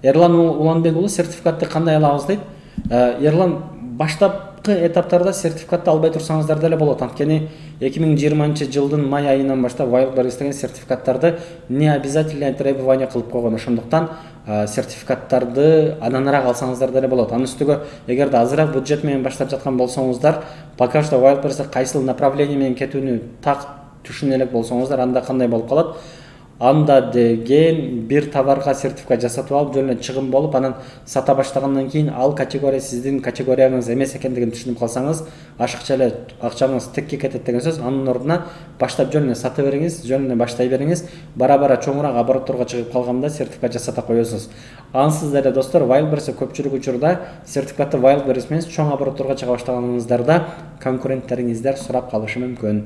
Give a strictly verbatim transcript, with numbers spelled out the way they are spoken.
Эрлан Уланбек уулу сертификатты кандай алабыз дейт. Эрлан, баштапкы этаптарда сертификатты албай турсаңыздар деле болот. Анткени эки миң жыйырманчы жылдын май айынан баштап Wildberries деген сертификаттарды не обязательное требование кылып койгон. Ошондуктан сертификаттарды ананыраак алсаңыздар деле болот. Анын үстүгө эгерде азыраак бюджет менен баштап жаткан болсоңуздар, пока что Wildberries кайсыл направление менен кетүүнү так түшүнө элек болсоңуздар, анда кандай болуп калат? Анда деген бир товарга сертификат жасатып алып, жөн эле чыгым болуп, анан сата баштагандан кийин ал категория сиздин категорияңыз эмес экендигин түшүнүп калсаңыз, ашыкча эле акчаңыз текке кетет деген сөз. Анын ордуна баштап жөн эле сата бериңиз, жөн эле баштай бериңиз. Бара-бара чоңураак оборотторго чыгып калганда сертификат жасата коесуз. Ансыз деле достор, Wildberries көпчүлүк учурда сертификатты Wildberries менен чоң оборотторго чыга баштаганыңыздарда конкуренттериңиздер сурап калышы мүмкүн.